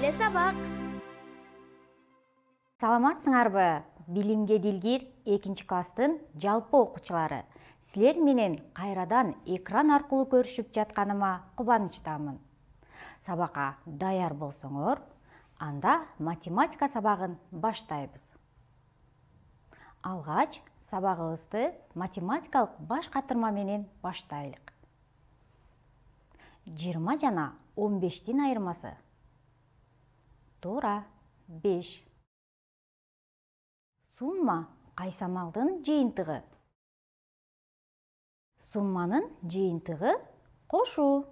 эле сабак. Саламатсыңарбы? Билимге дилгир 2-класстын жалпы окуучулары. Силер менен кайрадан экран аркылуу көрүшүп жатканыма кубанычтамын. Сабакка даяр болсоңор, анда математика сабагын баштайбыз. Алгач сабагыбызды математикалык баш катырма менен баштайлык. 20 жана 15-тин айырмасы. Туура 5. Сумма кайсамалдын жыйынтыгы. Сумманын жыйынтыгы кошуу.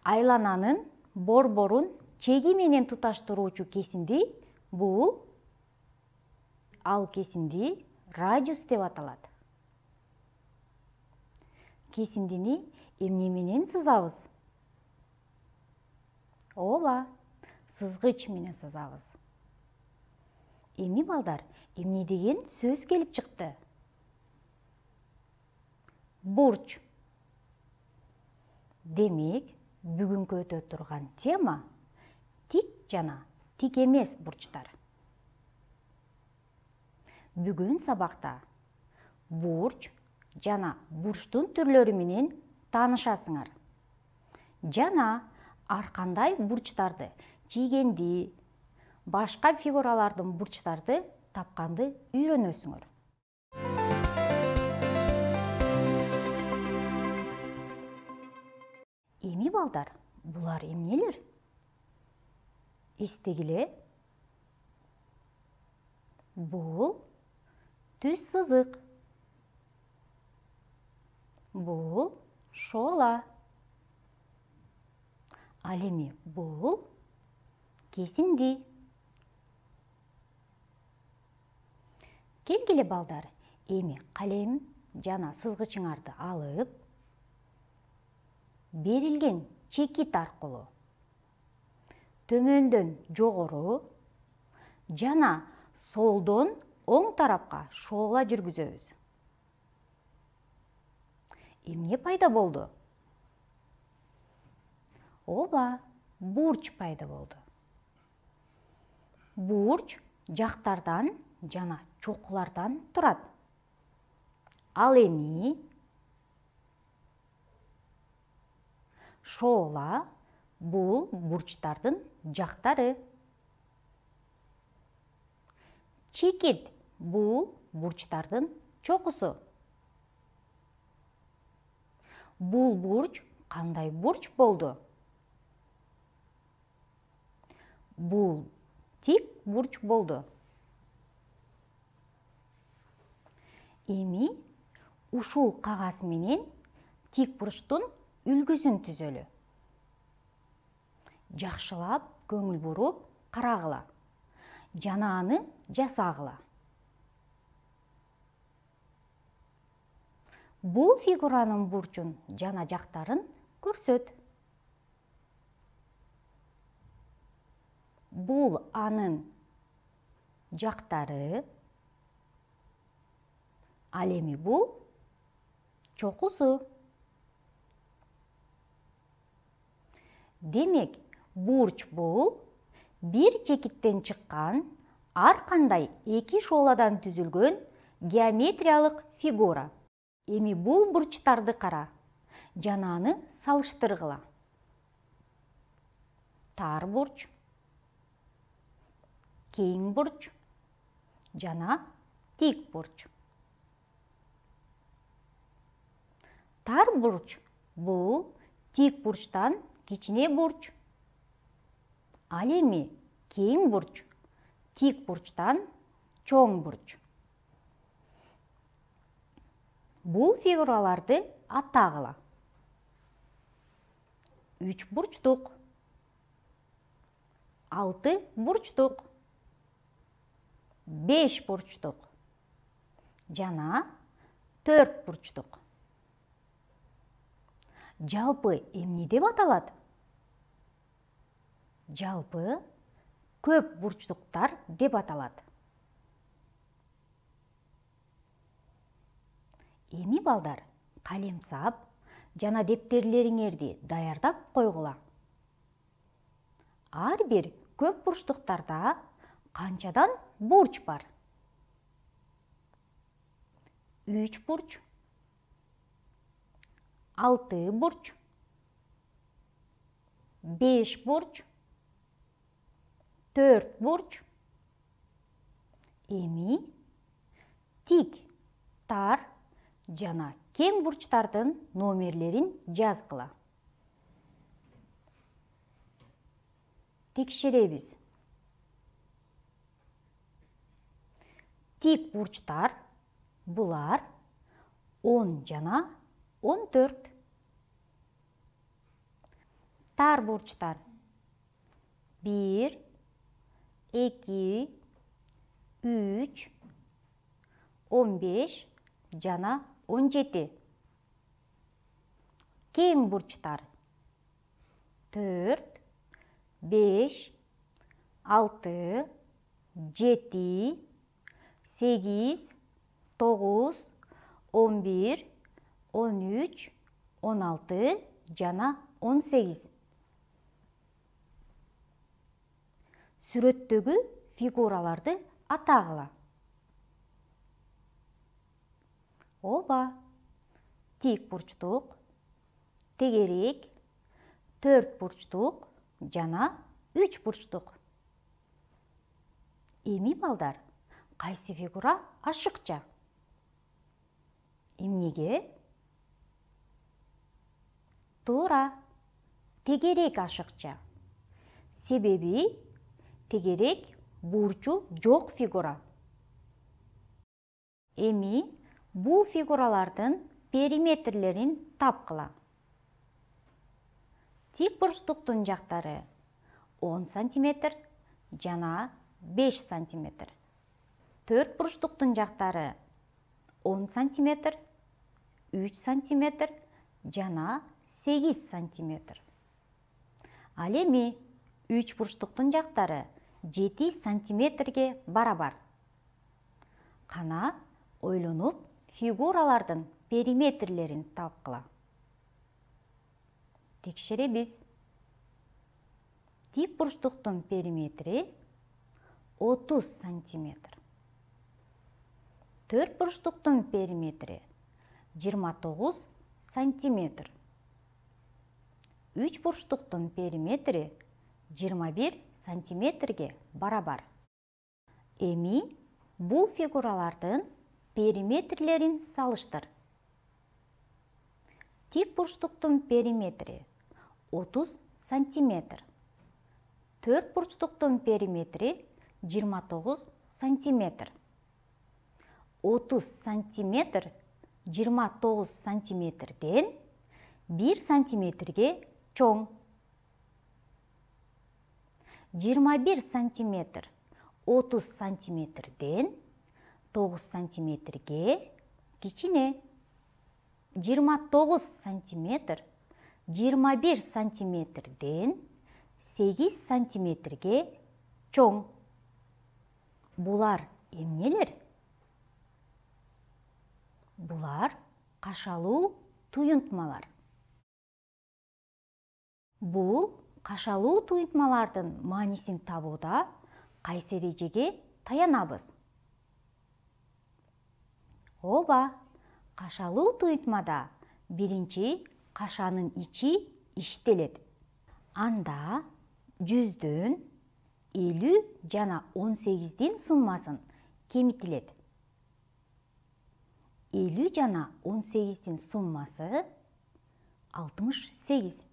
Айлананын борборун чеги менен туташтыруучу кесинди бул. Ал кесинди радиус деп аталат. Кесиндини эмне менен сызабыз? Ооба, сызгыч менен сызабыз. Эми балдар, эмне деген сөз келип чыкты? Бурч. Демек, бүгүнкү өтө турган тема тик жана тик эмес бурчтар. Бүгүн сабакта бурч жана бурчтун түрлөрү менен таанышасыңар. Жана ар кандай бурчтарды, чийгенди, башка фигуралардын бурчтарды тапканды үйрөнөсүңөр. Эми балдар, булар эмнелер? Эстегиле. Бул түз сызык. Бул шоола. Ал эми бул кесинди. Келгиле балдар, эми калем жана сызгычыңарды алып, берилген чекит аркылуу төмөндөн жогору жана солдон оң тарапка шоола жүргүзөбүз. Эмне пайда болду? Ооба, бурч пайда болду. Бурч жактардан жана чокулардан турат. Ал эми шоола бул бурчтардын жактары. Чекит бул бурчтардын чокусу. Бул бурч кандай бурч болду? Бул тик бурч болду. Эми ушул кагаз менен тик бурчтун үлгүсүн түзөлү. Жакшылап көңүл буруп карагыла жана аны жасагыла. Бул фигуранын бурчун жана жактарын көрсөт. Бул анын жактары. Ал эми бул чокусу. Демек, бурч бул бир чекиттен чыккан ар кандай эки шооладан түзүлгөн геометриялык фигура. Эми бул бурчтарды кара жана аны салыштыргыла. Тар бурч, кең бурч жана тик бурч. Тар бурч бул тик бурчтан кичине бурч. Ал эми кең бурч тик бурчтан чоң бурч. Бул фигураларды атагыла. 3 бурчтук, 6 бурчтук, 5 бурчтук жана 4 бурчтук. Жалпы эмне деп аталат? Жалпы көп бурчтуктар деп аталат. Эми балдар, калемсап жана дептерлериңерди даярдап койгула. ар бир көп бурчтуктарда канчадан бурч бар? 3 бурч, 6 бурч, 5 бурч, 4 бурч. Эми тик, тар жана кең бурчтардын номерлерин жазгыла. Текшеребиз. Тик бурчтар булар 10 жана 14. Тар бурчтар 1, 2, 3, 15 жана 17. Кең бурчтар 4, 5, 6, 7, 8, 9, 11, 13, 16 жана 18. Сүрөттөгү фигураларды атагыла. Ооба, тик бурчтук, тегерек, 4 бурчтук жана 3 бурчтук. Эми балдар, кайсы фигура ашыкча? Эмнеге? Туура, тегерек ашыкча. Себеби тегерек бурчу жок фигура. Эми бул фигуралардын периметрлерин тапкыла. Тик бурчтуктун жактары 10 см жана 5 см. 4 бурчтуктун жактары 10 см, 3 см жана 8 см. Ал эми 3 бурчтуктун жактары 7 сантиметрге барабар. Кана ойлонуп фигуралардын периметрлерин тапкыла. Текшеребиз. Тик бурчтуктун периметри 30 сантиметр. 4 бурчтуктун периметри 29 сантиметр. 3 бурчтуктун периметри 21 сантиметрге барабар. Эми бул фигуралардын периметрлерин салыштыр. Тик бурчтуктун периметри 30 сантиметр. 4 бурчтуктун периметри 29 сантиметр. 30 сантиметр 29 сантиметрден 1 сантиметрге чоң. 21 сантиметр 30 сантиметрден 9 сантиметрге кичине. 29 сантиметр 21 сантиметрден 8 сантиметрге чоң. Булар эмнелер? Булар кашалуу туюнтмалар. Бул кашалуу туюнтмалардын маанисин табууда кайсы эрежеге таянабыз? Ооба, кашалуу туюнтмада биринчи кашанын ичи иштелет. Анда 100дөн 50 жана 18дин суммасын кемитилет. 50 жана 18дин суммасы 68.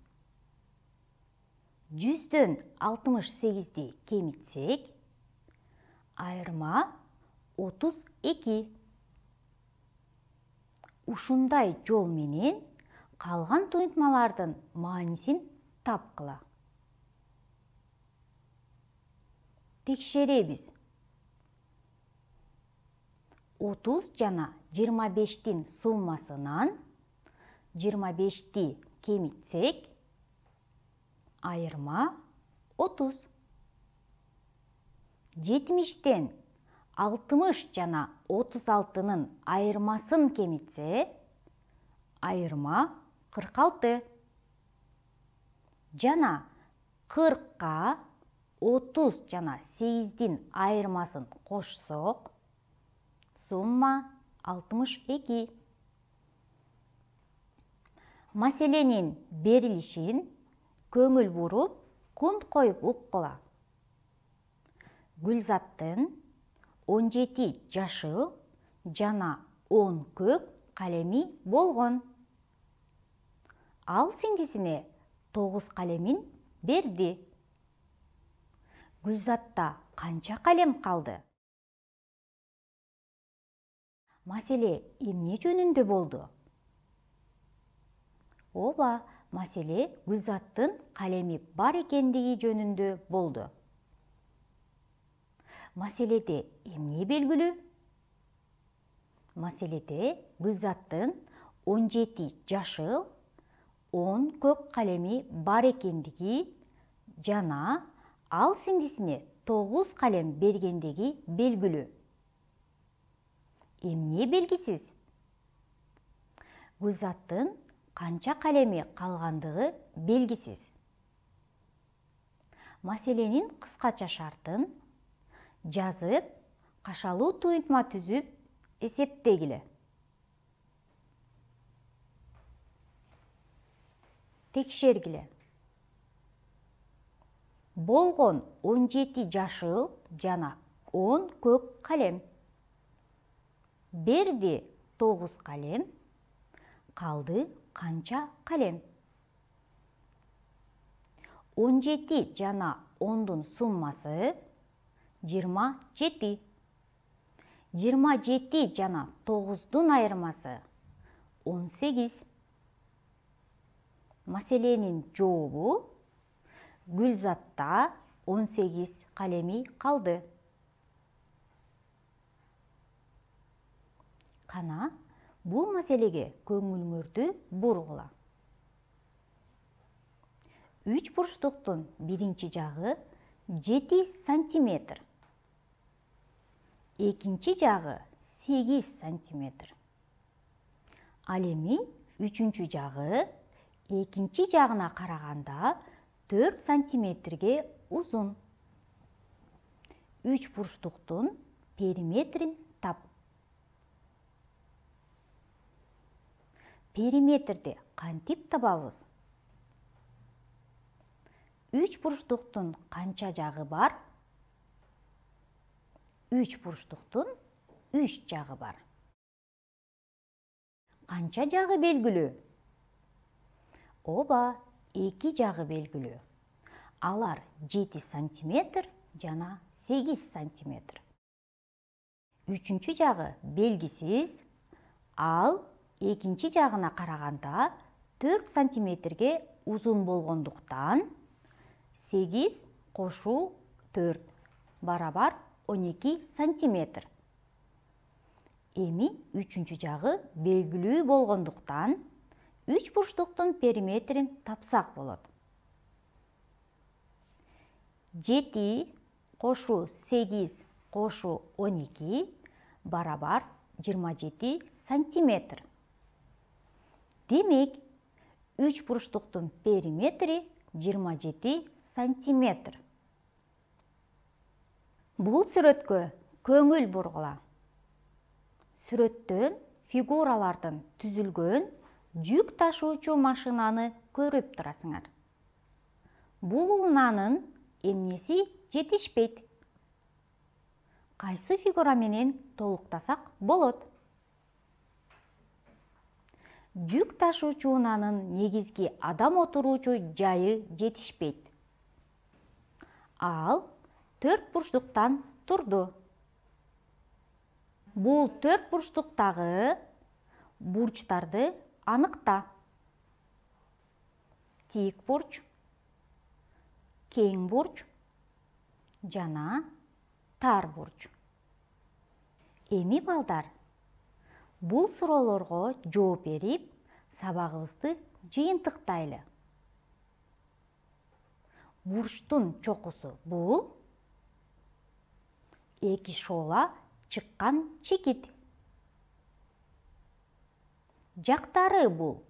100дөн 68ди кемитсек, айырма 32. Ушундай жол менен калган туюнтмалардын маанисин тапкыла. Текшеребиз. 30 жана 25дин суммасынан 25ди кемитсек, айырма 30. 70ден 60 жана 36нын айырмасын кемитсе, айырма 46. Жана 40ка 30 жана 8-дин айырмасын кошсок, сумма 62. Маселенин берилишин көңүл буруп, кунт коюп уккула. Гүлзаттын 17 жашыл жана 10 көк калеми болгон. Ал сиңдисине 9 калемин берди. Гүлзатта канча калем калды? Маселе эмне жөнүндө болду? Ооба, маселе Гүлзаттын калеми бар экендиги жөнүндө болду. Маселеде эмне белгилүү? Маселеде Гүлзаттын 17 жашыл, 10 көк калеми бар экендиги жана ал сиңдисине 9 калем бергендиги белгилүү. Эмне белгисиз? Гүлзаттын канча калеми калгандыгы белгисиз. Маселенин кыскача шартын жазып, кашалуу туюнтма түзүп, эсептегиле. Текшергиле. Болгон 17 жашыл жана 10 көк калем. Берди 9 калем, калды канча калем? 17 жана 10-дун суммасы 27. 27 жана 9-дун айырмасы 18. Маселенин жообу: Гүлзатта 18 калеми калды. Кана, бул маселеге көңүлүңөрдү бургула. 3 бурчтуктун биринчи жагы 7 сантиметр. Экинчи жагы 8 сантиметр. Ал эми үчүнчү жагы экинчи жагына караганда 4 сантиметрге узун. 3 бурчтуктун периметрин тап. Периметрди кантип табабыз? 3 бурчтуктун канча жагы бар? 3 бурчтуктун 3 жагы бар. Канча жагы белгилүү? Ооба, 2 жагы белгилүү. Алар 7 сантиметр жана 8 сантиметр. Үчүнчү жагы белгисиз. Ал экинчи жагына караганда 4 сантиметрге узун болгондуктан 8 кошуу 4 барабар 12 сантиметр. Эми үчүнчү жагы белгилүү болгондуктан 3 бурчтуктун периметрин тапсак болот. 7 кошуу 8 кошуу 12 барабар 27 сантиметр. Демек, 3 бурчтуктун периметри 27 сантиметр. Бул сүрөткө көңүл бургула. Сүрөттөн фигуралардын түзүлгөн жүк ташуучу машинаны көрүп турасыңар. Бул унаанын эмнеси жетишпейт? Кайсы фигура менен толуктасак болот? Жүк ташуучу унаанын негизги адам отуруучу жайы жетишпейт. Ал 4 бурчтуктан турду. Бул 4 бурчтуктагы бурчтарды аныкта. Тик бурч, кең бурч жана тар бурч. Эми балдар, бул суроолорго жооп берип, сабагыбызды жыйынтыктайлы. Бурчтун чокусу бул. Эки шоола чыккан чекит. Жактары бул.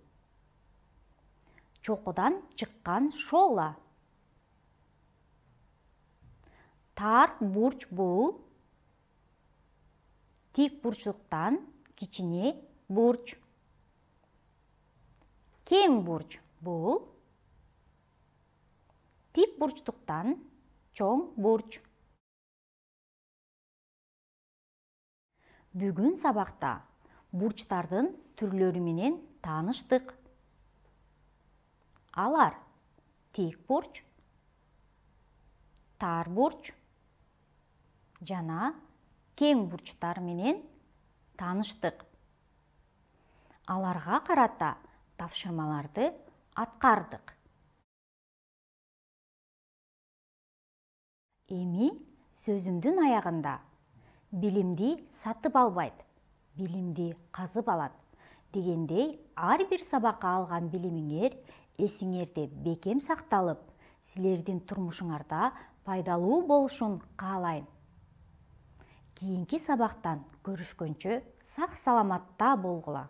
Чокудан чыккан шоола. Тар бурч бул тик бурчтуктан кичине бурч. Кең бурч бул тик бурчтуктан чоң бурч. Бүгүн сабакта бурчтардын түрлөрү менен тааныштык. Алар тик бурч, тар бурч жана кең бурчтар менен тааныштык. Аларга карата тапшырмаларды аткардык. Эми сөзүмдүн аягында билимди сатып албайт, билимди казып алат дегендей ар бир сабакка алган билимиңер эсиңерде бекем сакталып, силердин турмушуңарда пайдалуу болушун каалайм. Кийинки сабактан көрүшкөнчө сак саламатта болгула.